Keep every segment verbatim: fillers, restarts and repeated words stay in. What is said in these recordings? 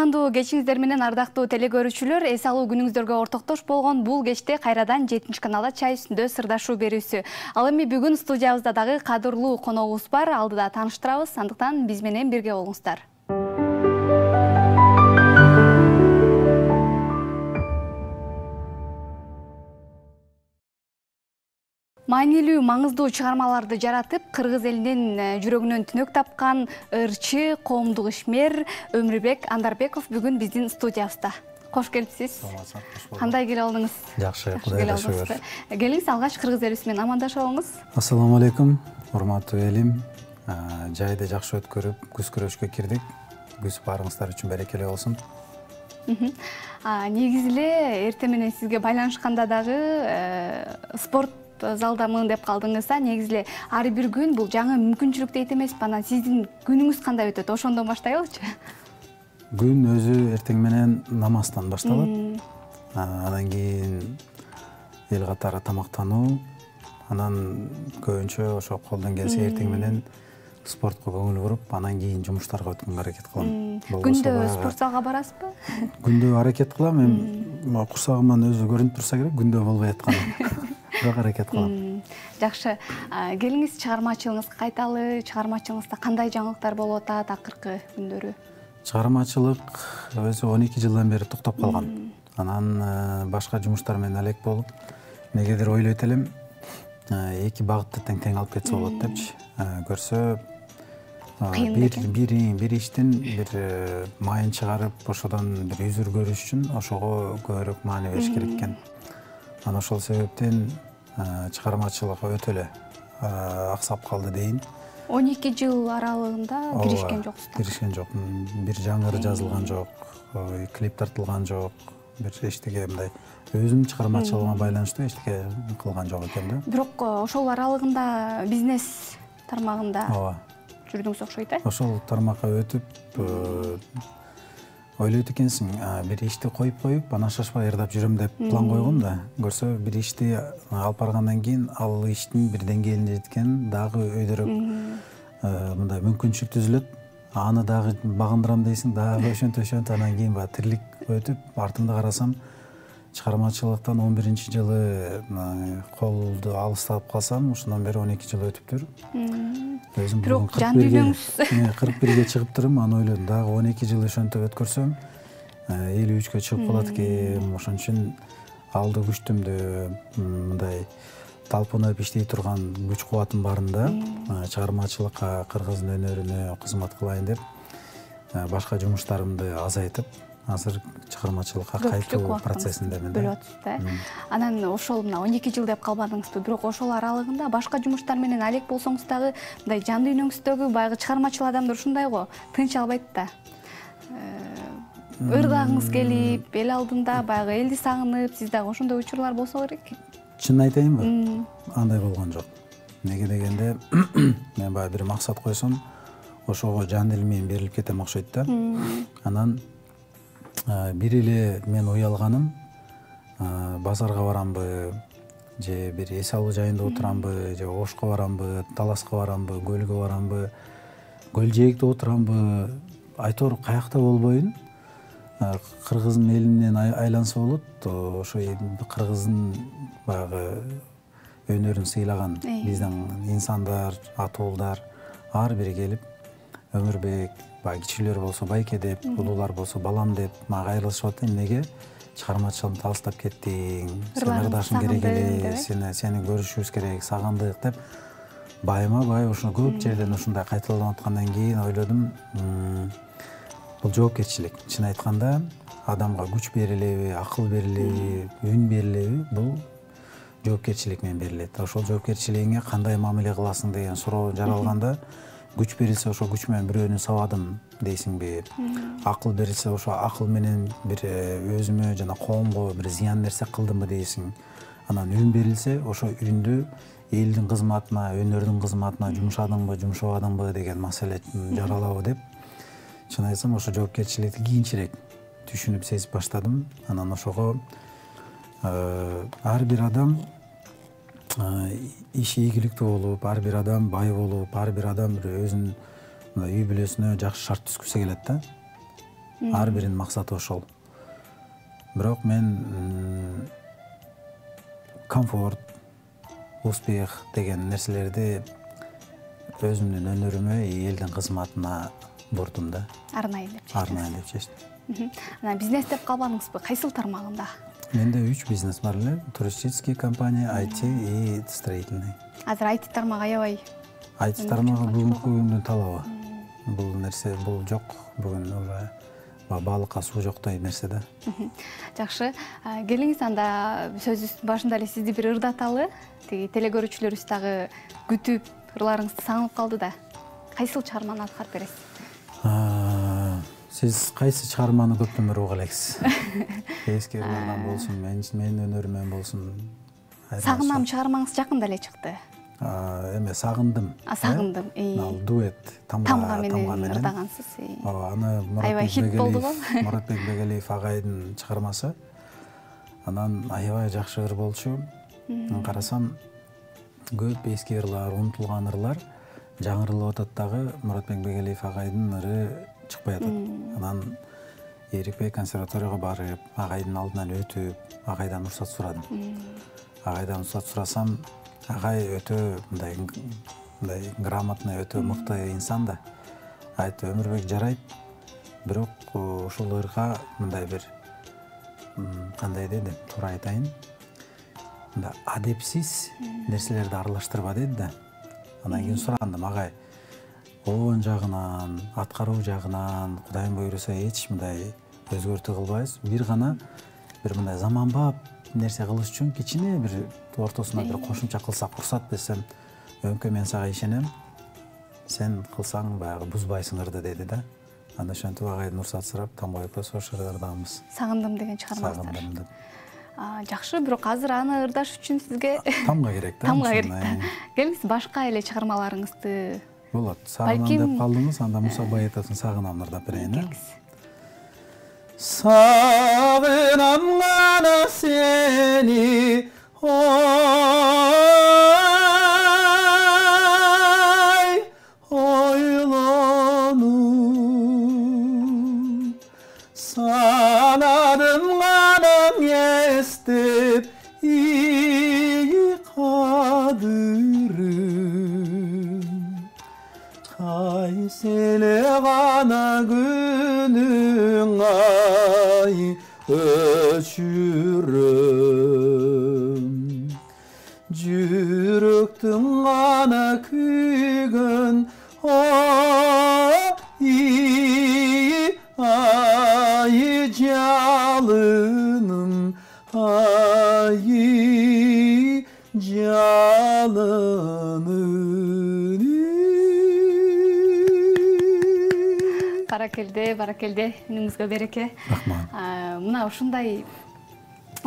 Кутмандуу кечиңиздер менен ардактуу телекөрүүчүлөр, эс алуу күнүңүздөргө ортоктош болгон бул кечте кайрадан жетинчи каналда чай үстүндө сырдашуу берүүсү. Ал эми бүгүн студиябызда дагы кадырлуу коногубуз бар, алдыда тааныштырабыз, андыктан биз менен бирге болуңуздар. Маанилүү, маңыздуу чыгармаларды жаратып, кыргыз элинин жүрөгүнөн түнөк тапкан ырчы, коомдук ишмер Өмүрбек Андарбеков бүгүн биздин студиябызда. Кош келипсиз. Кандай келе алдыңыз? Жакшы, Кудайга шүгүр. Келиңиз, алгач кыргыз элибиз менен амандашып алыңыз. Ассаламу алейкум, урматтуу элим. Жайды жакшы өткөрүп, күз күрөшкө кирдик. Күз баарыңыздар үчүн берекелүү болсун. Негизи эле эртең менен сизге байланышканда дагы спорт залдамын деп калдыңыз. Негизи эле ар бир күн бул жаңы мүмкүнчүлүк дейт эмеспи? Анан сиздин күнүңүз кандай өтөт? Ошондон баштайлычы? Күн өзү эртең менен намаздан башталат. Андан кийин эл катары тамактануу, анан көбүнчө ошо колдон келсе эртең менен спортко көңүл буруп, анан кийин жумуштарга өткөнгө аракет кылам. Күндө спорт залга барасызбы? Күндө аракет кылам. Эми курсагыман өзү көрүнүп турса керек, күндө болбой атканы. Бирок аракет кылам. Жакшы. Келиңиз, чыгармачылыгыңызга кайталы. Чыгармачылыгыңызда кандай жаңылыктар болуп атат акыркы күндөрү? Чыгармачылык өзү он эки жылдан бери токтоп калган. Анан башка жумуштар менен алек болуп, негедир ойлойт элем, эки багытты тең-тең алып кетсе болот депчи. Көрсө бир бир иштин бир майын чыгарып, ошодон бир үзүр көрүш үчүн ошого көбүрөөк маани бериш керек экен. Анан ошол себептен чыгармачылык өтө эле аксап калды дейин. он эки жыл аралыгында киришкен жоксуздар? Киришкен жокмун. Бир жаңыры жазылган жок, клип тартылган жок, бир эчтеке мындай өзүмдүн чыгармачылыгыма байланыштуу эчтеке кылган жок экен да. Бирок ошол аралыгында бизнес тармагында жүрдүңүз окшойт э? Ошол тармакка өтүп ойлойт экенсиң, бир ишти коюп коюп, анан шашпай ырдап жүрөм деп план койгом да. Көрсө бир ишти алып баргандан кийин ал иштин бир деңгээлине жеткен дагы өйдөрөөк мындай мүмкүнчүлүк түзүлөт. Аны дагы багындырам дейсиң, дагы ошентип ошентип анан кийин баягы тирлик өтүп, артымда карасам, чыгармачылыктан он биринчи жылы колду алыстап калсам, ошондон бери он эки жыл өтүптүр. Өзүм бирок жан дүйнөңүз кырк бирге чыгыптырмын, аны ойлодум. Дагы он эки жыл ошентип өткөрсөм, элүү үчкө чыгып калат экен. Ошон үчүн алды күчтүмдү мындай талпынып иштей турган күч кубатым барында чыгармачылыкка, кыргыздын өнөрүнө кызмат кылайын деп башка жумуштарымды азайтып, азыр чыгармачылыкка кайтуу процессиндемин. Бөлүп атасыз да. Анан ошол мына он эки жыл деп калбадыңызбы, бирок ошол аралыгында башка жумуштар менен алек болсоңуз дагы мындай жан дүйнөңүздөгү баягы чыгармачыл адамдар ушундай го, тынч албайт да. Ырдагыңыз келип, эл алдында баягы элди сагынып, сиз дагы ошондой учурлар болсо керек. Чынын айтайынбы? Андай болгон жок. Неге дегенде, мен баягы бир максат койсом, ошого жан дилим менен берилип кетем окшойт да. Анан бир эле мен уялганым, базарга барамбы, же бир эс алуу жайында отурамбы, же ошко барамбы, таласка барамбы, көлгө барамбы, көл жээкте отурамбы, айтор каякта болбойн, кыргыздын элинен айланса болот. Ошо кыргыздын баягы өнөрүн сыйлаган биздин инсандар, атуулдар ар бири келип, Өмүрбек, баягы кичилер болсо байке деп, улуулар болсо балам деп мага кайрылышып атат. Эмнеге чыгармачылыгымды алыстап кеттиң, сен ырдашың керек эле, сени көрүшүбүз керек, сагындык деп байма-бай ошо көп жерден ушундай кайталанып аткандан кийин ойлодум, бул жоопкерчилик. Чын айтканда, адамга күч берилеби, акыл берилеби, үн берилеби, бул жоопкерчилик менен берилет. Ошол жоопкерчилигиңе кандай мамиле кыласың деген суроо жаралганда, күч берилсе ошо күч менен бирөөнү сабадым дейсиңби? Акыл берилсе ошо акыл менен бир өзүмө жана коомго бир зыян нерсе кылдымбы дейсиң. Анан үн берилсе ошо үндү элдин кызматына, өнөрдүн кызматына жумшадыңбы, жумшабадыңбы деген маселе жаралабы деп, чын айтсам ошо жоопкерчиликти кийинчерээк түшүнүп сезип баштадым. Анан ошого ар бир адам иш ийгиликтүү болуп, ар бир адам бай болуп, ар бир адам бир өзүнүн үй бүлөсүнө жакшы шарт түзгүсү келет да. ар биринин максаты ошол. Бирок мен комфорт, успех деген нерселерди өзүмдүн өнөрүмө, элдин кызматына бурдум да. Арнайы деп чечтиң. Арнайы деп чечтим. Анан бизнес деп калбадыңызбы? Кайсыл тармагында? Менде үч бизнес бар эле: туристический компания, ай ти и строительный. Азыр ай ти тармагы аябай. ай ти тармагы бүгүнкү күндүн талабы. Бул нерсе бул жок. Бүгүн балыкка суу жоктой нерсе да. Жакшы. Келиңиз анда сөзүбүздүн башында эле сизди бир ырдаталы. Тиги телекөрүүчүлөрүбүз дагы күтүп, ырларыңызды сагынып калды да. Кайсыл чыгарманы аткарып бересиз? Сиз кайсы чыгарманы көптөн бери уга элексиз? Эски ырлардан болсун, менин өнөрүмөн болсун. Сагынам чыгармаңыз жакында эле чыкты. Эме сагындым. Сагындым. Ал дуэт тамга менен ырдагансыз. Ооба, аны Муратбек Бегелиев агайдын чыгармасы. Анан аябай жакшы ыр болчу. Карасам көп эски ырлар, унутулган ырлар жаңырылып атат дагы Муратбек Бегелиев агайдын ыры чыкпай атат. Анан Эрикбей консерваторияга барып, агайдын алдынан өтүп, агайдан уруксат сурадым. Агайдан уруксат сурасам, агай өтө мындай мындай грамотный, өтө мыкты инсан да. Айтты: Өмүрбек жарайт, бирок ушул ырга мындай бир кандай деди, туура айтайын, мындай адепсиз нерселерди аралаштырба деди да. Анан кийин сурандым: агай, оон жагынан, аткаруу жагынан Кудайым буйруса эч мындай өзгөртүү кылбайбыз. Бир гана бир мындай заманбап нерсе кылыш үчүн кичине бир ортосуна бир кошумча кылсак уруксат десем, өңкө мен сага ишенем, сен кылсаң баягы бузбайсың ырды деди да. Анда ошентип агайдан уруксат сурап, тамбайып ошол ырдаганбыз. Сагындым деген чыгармаңыздар. Сагындым деп. Жакшы, бирок азыр аны ырдаш үчүн сизге тамга керек да. Тамга керек да. Келиңиз башка эле чыгармаларыңызды. Болот. Сагынам деп калдыңыз, анда Муса Байетовдун Сагынам ырдап берейин. Сагынам гана сени, ой, ойлонуп, санадым гана эстеп ии кадырым, кайсы эле гана күнүң ай өчүрөм, жүрөктүң гана күйгөн ой ай жалыным, ай жалыным. Баракелде, баракелде, үнүңүзгө береке. Рахмат. Мына ушундай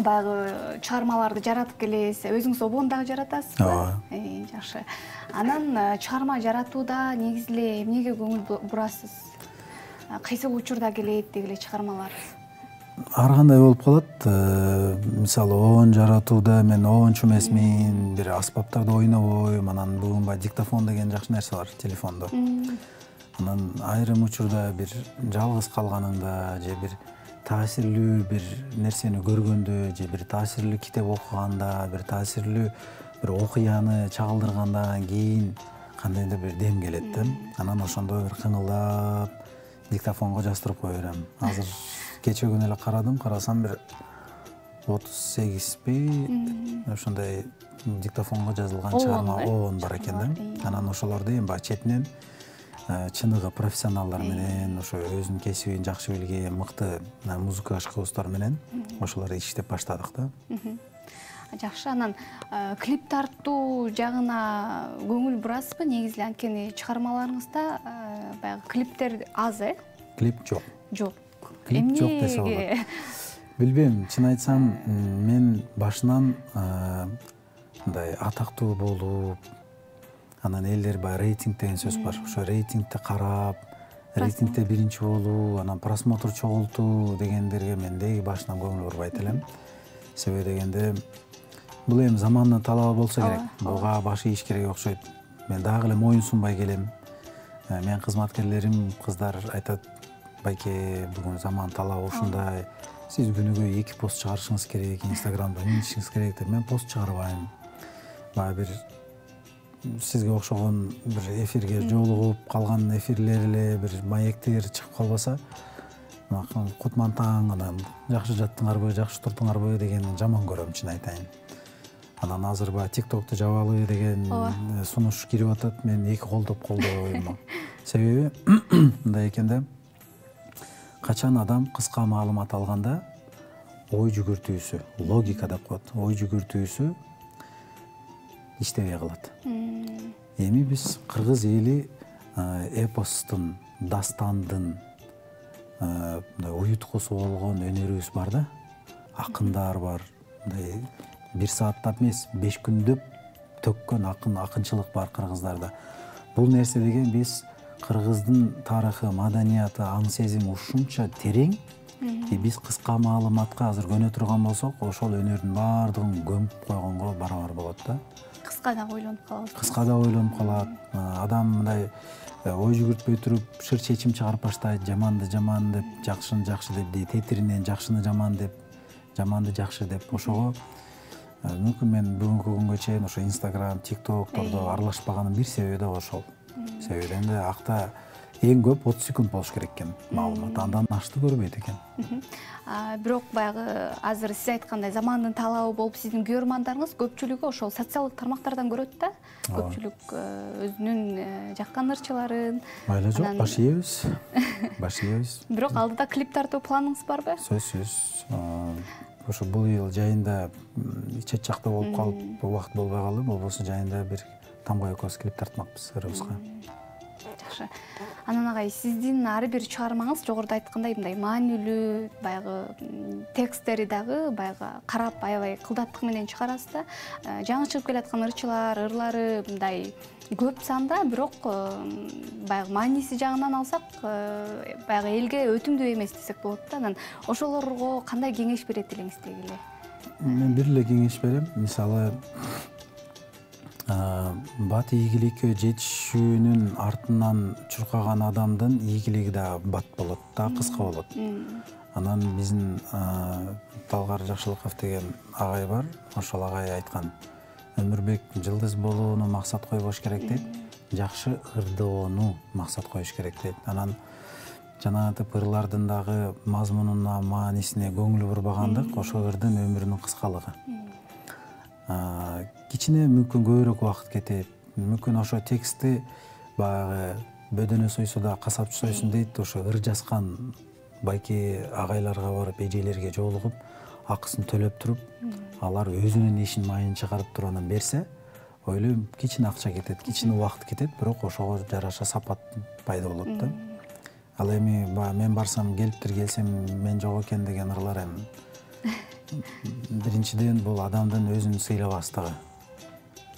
баягы чыгармаларды жаратып келесиз, өзүңүз обон дагы жаратасызбы? Ооба. Жакшы. Анан чыгарма жаратууда негизи эле эмнеге көңүл бурасыз? Кайсы учурда келет деги эле чыгармалар? Ар кандай болуп калат. Мисалы, оон жаратууда мен оончу эмесмин, бир аспаптарды ойнобойм. Анан бүгүн баягы диктофон деген жакшы нерсе бар телефондо. Анан айрым учурда бир жалгыз калганыңда же бир таасирлүү бир нерсени көргөндө же бир таасирлүү китеп окуганда, бир таасирлүү бир окуяны чагылдыргандан кийин кандайдыр бир дем келет да. Анан ошондо бир кыңылдап диктофонго жаздырып кое берем. Азыр кече күнү эле карадым, карасам бир отуз сегизби ошондой диктофонго жазылган чыгарма оон бар экен да. Анан ошолорду эми баягы четинен чыныгы профессионалдар менен, ошо өзүнүн кесибин жакшы билген мыкты музыка ашкыбыздар менен ошолорду иштеп баштадык да. Жакшы, анан клип тартуу жагына көңүл бурасызбы? Негизи анткени чыгармаларыңызда баягы клиптер аз, э? Клип жок. Жок. Клип жок десе болот. Билбейм, чын айтсам, мен башынан мындай атактуу болуп, анан элдер баягы рейтинг деген сөз бар. Ошо рейтингти карап, рейтингте биринчи болуу, анан просмотр чогултуу дегендерге мен деги башынан көңүл бурбайт элем. Себеби дегенде бул эми замандын талабы болсо керек. Буга баш ийиш керек окшойт. Мен дагы эле моюн сунбай келем. Менин кызматкерлерим, кыздар айтат, байке бүгүн заман талабы ушундай, сиз күнүгө эки пост чыгарышыңыз керек, инстаграмда мынтишиңиз керек деп мен пост чыгарбайм. Баягы бир сизге окшогон бир эфирге жолугуп калган эфирлер эле бир маектер чыгып калбаса, кутмантаң анан жакшы жаттыңарбы, жакшы турдуңарбы деген жаман көрөм, чын айтайын. Анан азыр баягы тиктокту жабалы деген сунуш кирип атат, мен эки колдоп колдойм. Себеби мындай экен да, качан адам кыска маалымат алганда ой жүгүртүүсү, логика деп коет, ой жүгүртүүсү иштебей калат. Эми биз кыргыз эли эпостун, дастандын мындай уюткусу болгон өнөрүбүз бар да, акындар бар. Мындай бир сааттап эмес, беш күндөп төккөн акын, акынчылык бар кыргыздарда. Бул нерсе деген биз кыргыздын тарыхы, маданияты, аң сезими ушунча терең, биз кыска маалыматка азыр көнө турган болсок, ошол өнөрдүн баардыгын көмүп койгонго барабар болот да. Кыска да ойлонуп калат. Кыска да ойлонуп калат. Адам мындай ой жүгүртпөй туруп шыр чечим чыгарып баштайт, жаманды жаман деп, жакшыны жакшы деп, тетиринен жакшыны жаман деп, жаманды жакшы деп. Ошого мүмкүн мен бүгүнкү күнгө чейин ошо Instagram, TikTok'тордо аралашпаганын бир себеби да ошол. Себеби энди акта эң көп отуз секунд болуш керек экен маалымат, андан ашты көрбөйт экен. Бирок баягы азыр сиз айткандай замандын талабы болуп, сиздин көрөрмандарыңыз көпчүлүгү ошол социалдык тармактардан көрөт да. Көпчүлүк өзүнүн жаккан ырчыларын. Майла жок, баш ийебиз. Баш ийебиз. Бирок алдыда клип тартуу планыңыз барбы? Сөзсүз. Ошо бул ел жайында чет жакта болуп калып, убакыт болбой калды, болбосо жайында бир тамга экөөбүз клип тартмакпыз ырыбызга. Жакшы. Анан агай, сиздин ар бир чыгармаңыз жогоруда айткандай мындай маанилүү, баягы текстери дагы баягы карап аябай кылдаттык менен чыгарасыз да. Жаңы чыгып келаткан ырчылар, ырлары мындай көп санда, бирок баягы мааниси жагынан алсак, баягы элге өтүмдүү эмес десек болот да. Анан ошолорго кандай кеңеш берет элеңиз дегиле? Мен бир эле кеңеш берем. Мисалы, бат ийгиликке жетишүүнүн артынан чуркаган адамдын ийгилиги да бат болот да, кыска болот. Анан биздин Талгар Жакшылыков деген агай бар, ошол агай айткан: өмүрбек жылдыз болууну максат койбош керек дейт, жакшы ырдоону максат коюш керек дейт. Анан жанагынтип ырлардын дагы мазмунуна, маанисине көңүл бурбагандык ошо ырдын өмүрүнүн кыскалыгы. Кичине мүмкүн көбүрөөк убакыт кетет, мүмкүн ошо текстти баягы бөдөнө сойсо да касапчы сойсун дейт, ошо ыр жазган байке агайларга барып, эжелерге жолугуп, акысын төлөп туруп, алар өзүнүн ишин майын чыгарып туруп анан берсе, ойлойм кичине акча кетет, кичине убакыт кетет, бирок ошого жараша сапат пайда болот да. Ал эми мен барсам, келиптир, келсем мен жок экен деген ырлар эми биринчиден бул адамдын өзүн сыйлабастыгы.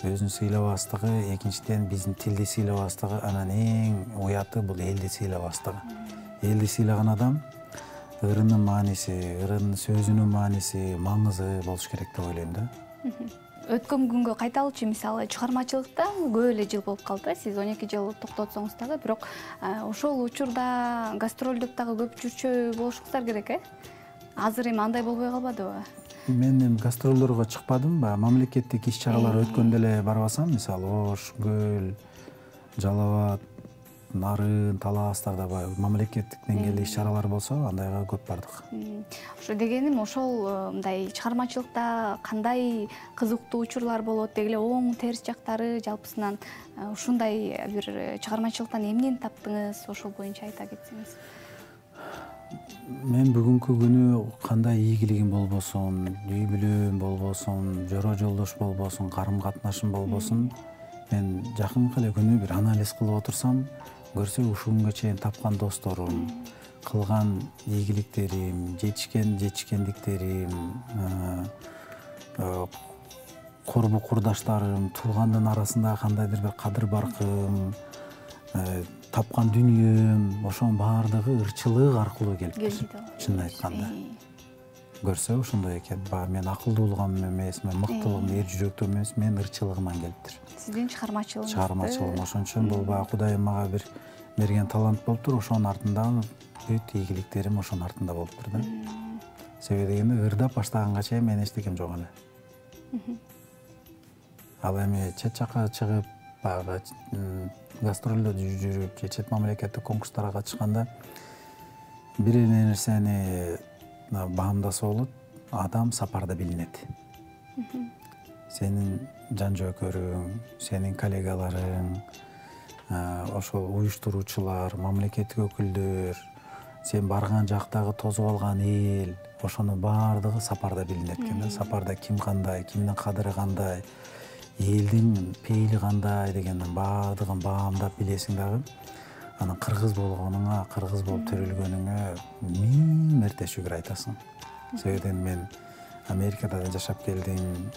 Өзүн сыйлабастыгы, экинчиден биздин тилди сыйлабастыгы, анан эң уяты бул элди сыйлабастыгы. Элди сыйлаган адам ырынын мааниси, ырынын сөзүнүн мааниси, маңызы болуш керек деп ойлойм да. Өткөн күнгө кайталычы, мисалы чыгармачылыкта көп эле жыл болуп калды, сиз он эки жыл токтотсоңуз дагы, бирок ошол учурда гастролдоп дагы көп жүрчү болушуңуздар керек, э? Азыр эми андай болбой калбадыбы? Мен эми гастролдорго чыкпадым, баягы мамлекеттик иш-чаралар өткөндө эле барбасам, мисалы Ош, Көл, Жалал Абад, Нарын, Таластарда баягы мамлекеттик деңгээлде иш-чаралар болсо, андайга көп бардык. Ошо дегеним, ошол мындай чыгармачылыкта кандай кызыктуу учурлар болот, деги эле оң терс жактары, жалпысынан ушундай бир чыгармачылыктан эмнени таптыңыз, ошол боюнча айта кетсеңиз. Мен бүгүнкү күнү кандай ийгилигим болбосун, үй бүлөм болбосун, жора жолдош болбосун, карым катнашым болбосун, мен жакынкы эле күнү бир анализ кылып отурсам, көрсө ушул күнгө чейин тапкан досторум, кылган ийгиликтерим, жетишкен жетишкендиктерим, корбу курдаштарым, туугандын арасында кандайдыр бир кадыр баркым, тапкан дүнүйөм, ошонун баардыгы ырчылык аркылуу келиптир. Чынын айтканда. Көрсө ошондой экен. Баягы мен акылдуулугум эмес, мен мыктылыгым, эр жүрөктүгүм эмес, мен ырчылыгыман келиптир. Сиздин чыгармачылыгыңыз. Чыгармачылыгым ошон үчүн бул баягы Кудайым мага бир берген талант болуптур, ошонун артында бүт ийгиликтерим ошонун артында болуптур да. Себеби дегенде ырдап баштаганга чейин мен эчтекем жок эле. Ал эми чет жакка чыгып, баягы гастролдорду жүрүп, же чет мамлекеттик конкурстарга катышканда бир эле нерсени баамдаса болот, адам сапарда билинет. Сенин жан жөөкөрүң, сенин коллегаларың, ошол уюштуруучулар, мамлекеттик өкүлдөр, сен барган жактагы тосуп алган эл, ошонун баардыгы сапарда билинет экен да. Сапарда ким кандай, кимдин кадыры кандай, элдин пейили кандай дегендин баардыгын баамдап билесиң дагы. Анан кыргыз болгонуңа, кыргыз болуп төрөлгөнүңө миң мерте шүгүр айтасың. Себеби мен Америкада да жашап келдим,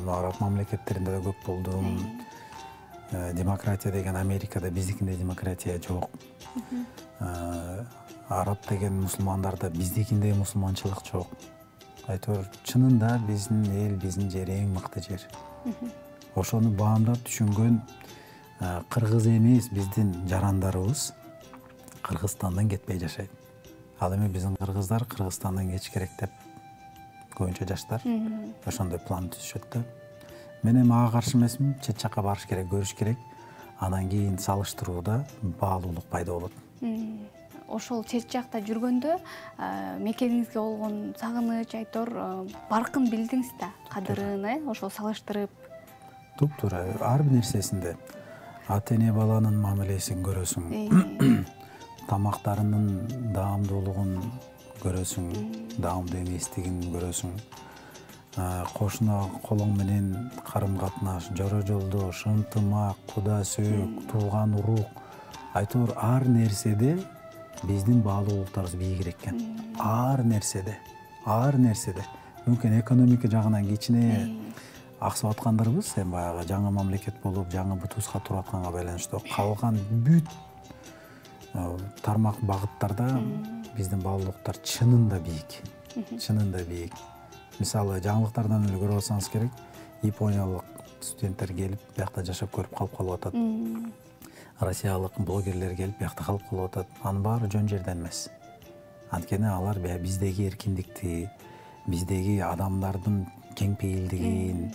араб мамлекеттеринде да көп болдум. Демократия деген Америкада биздикиндей демократия жок. Араб деген мусулмандарда биздикиндей мусулманчылык жок. Айтор чынында биздин эл, биздин жер эң мыкты жер. Ошону баамдап түшүнгөн кыргыз эмес биздин жарандарыбыз Кыргызстандан кетпей жашайт. Ал эми биздин кыргыздар Кыргызстандан кетиш керек деп көбүнчө жаштар ошондой план түзүшөт да. Мен эми ага каршы эмесмин, чет жакка барыш керек, көрүш керек. Анан кийин салыштырууда баалуулук пайда болот. Ошол чет жакта жүргөндө мекениңизге болгон сагыныч, айтор баркын билдиңиз да, кадырын, э, ошол салыштырып. Туп-туура, ар бир нерсесинде ата эне баланын мамилесин көрөсүң. Тамактарынын даамдуулугун көрөсүң, даамдуу эместигин көрөсүң. Кошуна колоң менен карым катнаш, жора жолдош, ынтымак, куда сөөк, тууган урук. Айтор ар нерседе биздин баалуулуктарыбыз бийигирээк экен. Ар нерседе, ар нерседе. Мүмкүн экономика жагынан кичине аксап аткандарыбыз, эми баягы жаңы мамлекет болуп, жаңы бутубузга туруп атканга байланыштуу. Калган бүт тармак багыттарда биздин баалуулуктар чынында бийик. Чынында бийик. Мисалы, жаңылыктардан эле көрүп алсаңыз керек, Япониялык студенттер келип, биякта жашап көрүп калып калып атат. Россиялык блогерлер келип, биякта калып калып атат. Анын баары жөн жерден эмес. Анткени алар биздеги эркиндикти, биздеги адамдардын кең пейилдигин,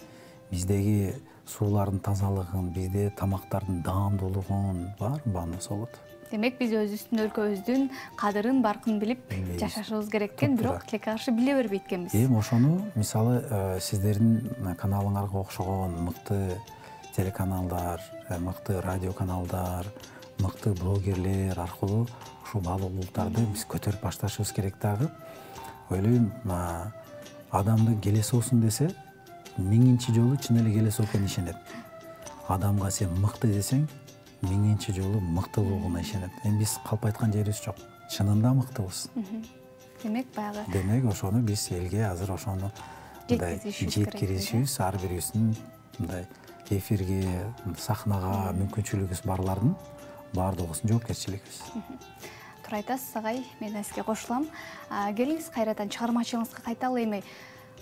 биздеги суулардын тазалыгын, бизде тамактардын даамдуулугун баарын баамдаса болот. Демек биз өзүбүздүн өлкөбүздүн кадырын, баркын билип жашашыбыз керек экен, бирок тилекке каршы биле бербейт экенбиз. Эми ошону, мисалы, сиздердин каналыңарга окшогон мыкты телеканалдар, мыкты радио каналдар, мыкты блогерлер аркылуу ушул баалуулуктарды биз көтөрүп башташыбыз керек дагы. Ойлойм, адамды келеси болсун десе, миңинчи жолу чын эле келеси экенин ишенет. Адамга сен мыкты десең, миңинчи жолу мыктылыгына ишенет. Эми биз калп айткан жерибиз жок. Чынында мыктыбыз. Демек баягы. Демек ошону биз элге азыр ошону жеткиришибиз, ар бирибиздин мындай эфирге, сахнага мүмкүнчүлүгүбүз барлардын баардыгыбыздын жоопкерчилигибиз. Туура айтасыз, агай. Мен сизге кошулам. Келиңиз кайрадан чыгармачылыгыңызга кайталы. Эми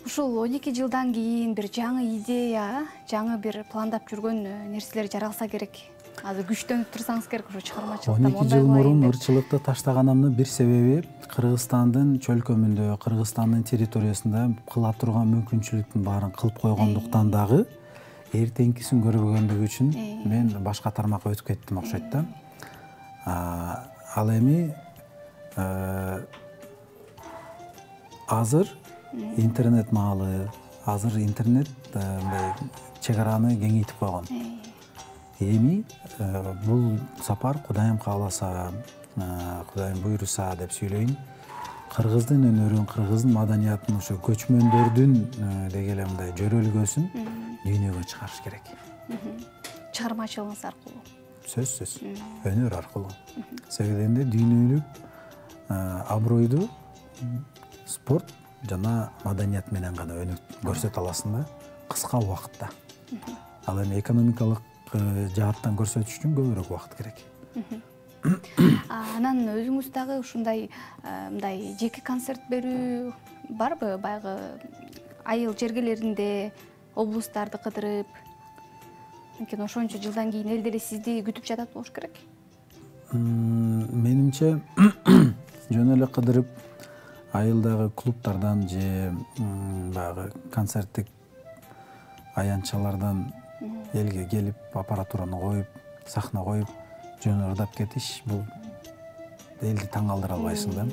ушул он эки жылдан кийин бир жаңы идея, жаңы бир пландап жүргөн нерселер жаралса керек. Азыр күчтөнүп турсаңыз керек ошо чыгармачылыкта. он эки жыл мурун ырчылыкты таштаганымдын бир себеби Кыргызстандын чөлкөмүндө, Кыргызстандын территориясында кыла турган мүмкүнчүлүктүн баарын кылып койгондуктан дагы эртеңкисин көрбөгөндүгү үчүн мен башка тармакка өтүп кеттим окшойт да. Ал эми азыр интернет маалы, азыр интернет мындай чек араны кеңейтип койгон. Эми бул сапар Кудайым кааласа, Кудайым буйруса деп сүйлөйүн, кыргыздын өнөрүн, кыргыздын маданиятын, ошо көчмөндөрдүн деги эле мындай жөрөлгөсүн дүйнөгө чыгарыш керек. Чыгармачылыгыңыз аркылуу. Сөзсүз, өнөр аркылуу. Себеби дүйнөлүк абройду спорт жана маданият менен гана көрсөтө аласың да, кыска убакытта. Ал эми экономикалык жааттан көрсөтүш үчүн көбүрөөк убакыт керек. Анан өзүңүз дагы ушундай мындай жеке концерт берүү барбы? Баягы айыл жергелеринде облустарды кыдырып, анткени ошончо жылдан кийин эл деле сизди күтүп жатат болуш керек. менимче жөн эле кыдырып айылдагы клубтардан же баягы концерттик аянтчалардан элге келип аппаратураны коюп сахна коюп жөн эле ырдап кетиш, бул элди таң калтыра албайсың да.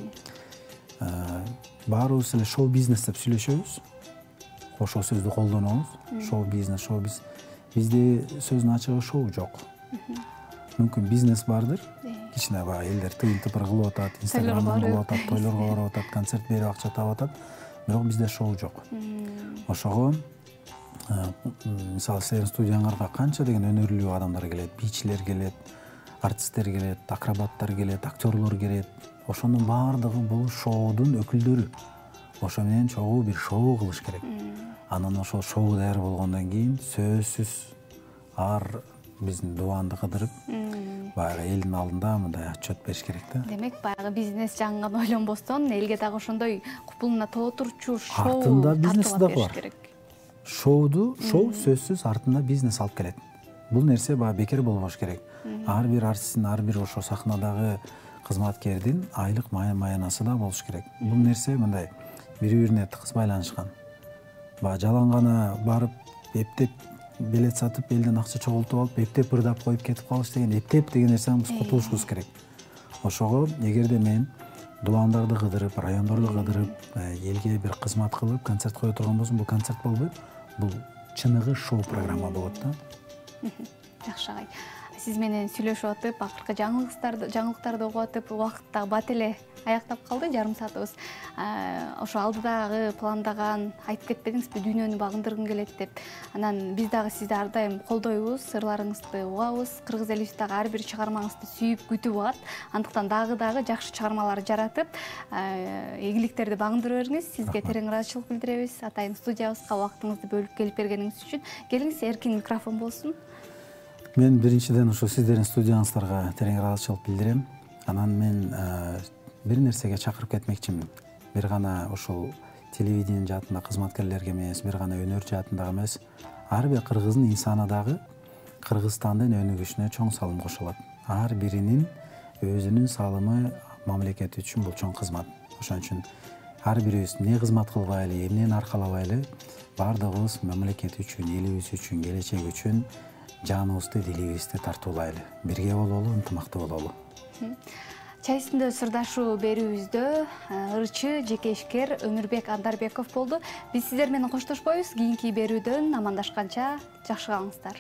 Баарыбыз эле шоу бизнес деп сүйлөшөбүз. Ошол сөздү колдонобуз. Шоу бизнес, шоу бизнес. Бизде сөздүн ачыгы шоу жок. Мүмкүн бизнес бардыр. Кичине баягы элдер тыйын тыпыр кылып атат, инстаграмдан кылып атат, тойлорго барып атат, концерт берип акча таап атат. Бирок бизде шоу жок. Ошого мисалы силердин студияңарга канча деген өнөрлүү адамдар келет, бийчилер келет, артисттер келет, акробаттар келет, актерлор келет. Ошонун баардыгы бул шоудун өкүлдөрү. Ошо менен чогуу бир шоу кылыш керек. Анан ошол шоу даяр болгондон кийин сөзсүз ар биздин дубанды кыдырып, баягы элдин алдында мындай отчет бериш керек да. Демек, баягы бизнес жагын гана ойлонбостон, элге дагы ошондой купулуна толтурчу шоу артында бизнес да бериш бар. керек. Шоуду, шоу сөзсүз артында бизнес алып келет. Бул нерсе баягы бекер болбош керек. Ар бир артисттин, ар бир ошо сахнадагы кызматкердин айлык маянасы да болуш керек. Бул нерсе мындай бири-бирине тыгыз байланышкан. Баягы жалаң гана барып, эптеп билет сатып, элден акча чогултуп алып, эптеп ырдап коюп кетип калыш деген, эптеп деген нерседен биз кутулушубуз керек. Ошого эгерде мен дубандарды кыдырып, райондорду кыдырып, элге бир кызмат кылып, концерт кое турган болсом, бул концерт болбойт. Бул чыныгы шоу программа болот да. Жакшы агай. Сиз менен сүйлөшүп атып, акыркы жаңылыктарды жаңылыктарды угуп атып, убакыт да бат эле аяктап калды, жарым саатыбыз. Ошо алдыдагы пландаган, айтып кетпедиңизби, дүйнөнү багындыргым келет деп. Анан биз дагы сизди ар дайым колдойбуз, сырларыңызды угабыз. Кыргыз элибиз дагы ар бир чыгармаңызды сүйүп күтүп атат. Андыктан дагы дагы жакшы чыгармалар жаратып, ийгиликтерди багындыра бериңиз. Сизге терең ыраазычылык билдиребиз. Атайын студиябызга убактыңызды бөлүп келип бергениңиз үчүн. Келиңиз, эркин микрофон болсун. Мен биринчиден ошо сиздердин студияңыздарга терең ыраазычылык билдирем. Анан мен бир нерсеге чакырып кетмекчимин. Бир гана ошол телевидение жаатында кызматкерлерге эмес, бир гана өнөр жаатындагы эмес, ар бир кыргыздын инсаны дагы Кыргызстандын өнүгүшүнө чоң салым кошо алат. Ар биринин өзүнүн салымы мамлекет үчүн бул чоң кызмат. Ошон үчүн ар бирибиз эмне кызмат кылбайлы, эмнени аркалабайлы, баардыгыбыз мамлекет үчүн, элибиз үчүн, келечек үчүн жаныбызды, дилибизди тартуулайлы. Бирге бололу, ынтымактуу бололу. Чай үстүндө сырдашуу берүүбүздө ырчы, жеке ишкер Өмүрбек Андарбеков болду. Биз сиздер менен коштошпойбуз. Кийинки берүүдөн амандашканча жакшы калыңыздар.